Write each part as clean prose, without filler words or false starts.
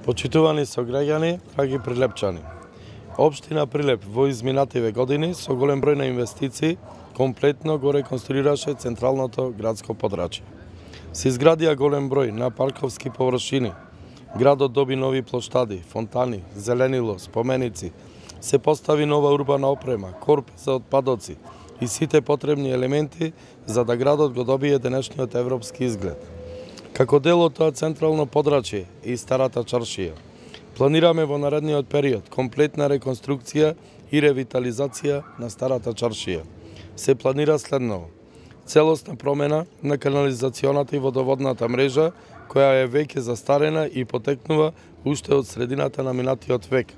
Почитувани сограѓани, драги прилепчани. Општина Прилеп во изминативе години со голем број на инвестиции комплетно го реконструираше централното градско подрачје. Се изградија голем број на парковски површини. Градот доби нови плоштади, фонтани, зеленило, споменици. Се постави нова урбана опрема, корпи за отпадоци и сите потребни елементи за да градот го добие денешниот европски изглед. Како дел од тоа централно подрачје и старата чаршија, планираме во наредниот период комплетна реконструкција и ревитализација на старата чаршија. Се планира следново: целосна промена на канализационата и водоводната мрежа, која е веќе застарена и потекнува уште од средината на минатиот век.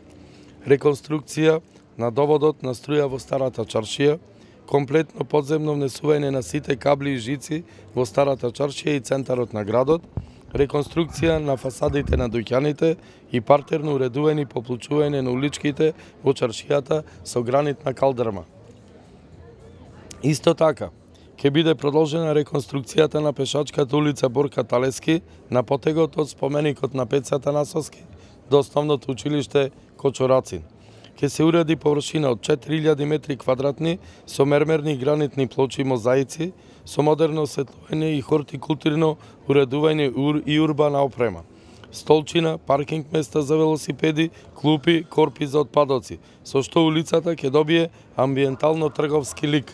Реконструкција на доводот на струја во старата чаршија, комплетно подземно внесување на сите кабли и жици во старата чаршија и центарот на градот, реконструкција на фасадите на дуќаните и партерно уредување и поплучување на уличките во чаршијата со гранитна калдрма. Исто така, ќе биде продолжена реконструкцијата на пешачката улица Борка Талески на потегот од споменикот на Пецата Насоски до основното училиште Кочорацин. Ќе се уреди површина од 4000 метри квадратни со мермерни гранитни плочи и мозаици, со модерно осветлување и хортикултурно уредување и урбана опрема. Столчина, паркинг места за велосипеди, клупи, корпи за отпадоци, со што улицата ќе добие амбиентално-трговски лик.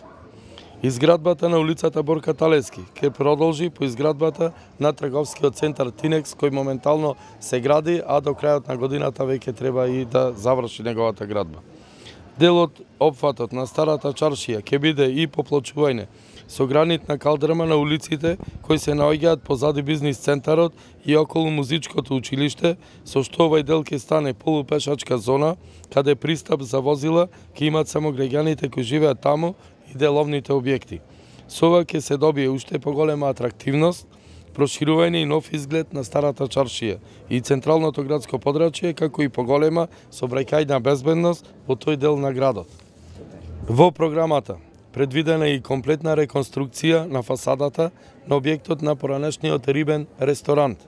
Изградбата на улицата Борка Талески ќе продолжи по изградбата на трговскиот центар Тинекс, кој моментално се гради, а до крајот на годината веќе треба и да заврши неговата градба. Дел од опфатот на старата чаршија ќе биде и поплочување со гранитна калдрма на улиците кои се наоѓаат позади бизнис центарот и околу музичкото училиште, со што овој дел ќе стане полупешачка зона, каде пристап за возила ќе имат само граѓаните кои живеат таму и деловните објекти. Со ова ќе се добие уште поголема атрактивност, проширување и нов изглед на старата чаршија и централното градско подрачје, како и поголема сообраќајна безбедност во тој дел на градот. Во програмата предвидена и комплетна реконструкција на фасадата на објектот на поранешниот рибен ресторант.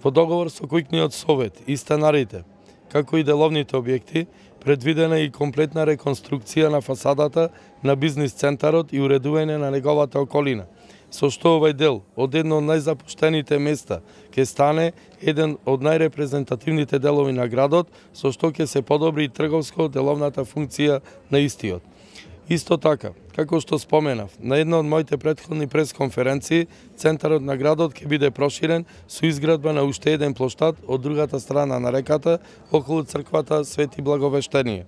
Во договор со Куќниот совет и станарите, како и деловните објекти, предвидена и комплетна реконструкција на фасадата на бизнис центарот и уредување на неговата околина, со што овој дел од едно од најзапуштените места ќе стане еден од најрепрезентативните делови на градот, со што ќе се подобри и трговско-деловната функција на истиот. Исто така, како што споменав, на една од моите претходни пресконференции, центарот на градот ќе биде проширен со изградба на уште еден плоштад од другата страна на реката, околу црквата Свети Благовештение.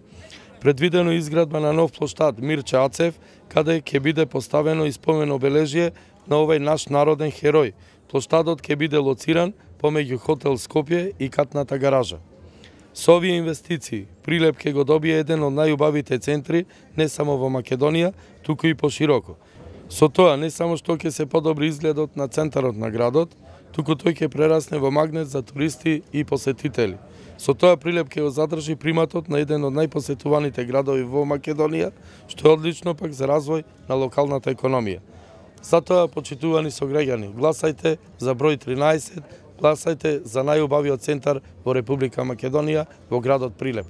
Предвидено изградба на нов плоштад Мирче Ацев, каде ќе биде поставено и спомен обележје на овој наш народен херој. Плоштадот ќе биде лоциран помеѓу хотел Скопје и катната гаража. Со овие инвестиции, Прилеп ќе го добие еден од најубавите центри не само во Македонија, туку и пошироко. Со тоа не само што ќе се подобри изгледот на центарот на градот, туку тој ќе прерасне во магнет за туристи и посетители. Со тоа Прилеп ќе го задржи приматот на еден од најпосетуваните градови во Македонија, што е одлично пак за развој на локалната економија. Затоа, почитувани сограѓани, гласајте за број 13, гласајте за најубавиот центар во Република Македонија во градот Прилеп.